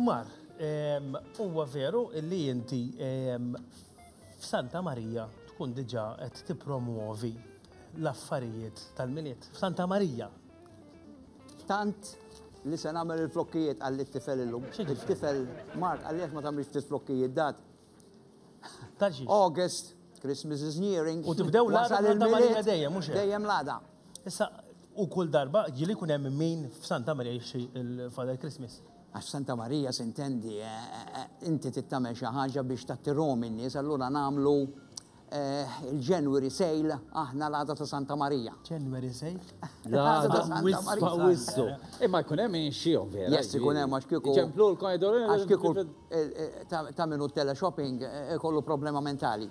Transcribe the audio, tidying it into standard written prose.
Mar, huwa veru li inti f'Santa Marija tkun diġà qed tippromwovi l-affarijiet tal-Milied? F'Santa Marija. Tant li se nagħmel il-flokkijiet, qalli t-tifel illum. Il-tifel Mark qalli għax ma tagħmilx ftit flokkijiet dat. August, Christmas is nearing. U tibdew l-għada Santa Marija dejjem, mhux hekk? Dejjem l-għada. Issa, u kull darba ġieli jkun hemm min f'Santa Marija jixtri l-Father Christmas. Għax Santa Marija s'intendi, inti trid tagħmel xi ħaġa biex tattirhom in-nies, allura nagħmlu il-January sale aħna l-għada ta' Santa Marija. January sale? L-għada ta' Santa Marija. Wissu. Imma jkun hemm min jixtrihom vera. Yes, ikun hemm għax kieku. Iċemplulkom jgħidu. Għax kieku ta' min hu teleshopping ikollu problema mentali.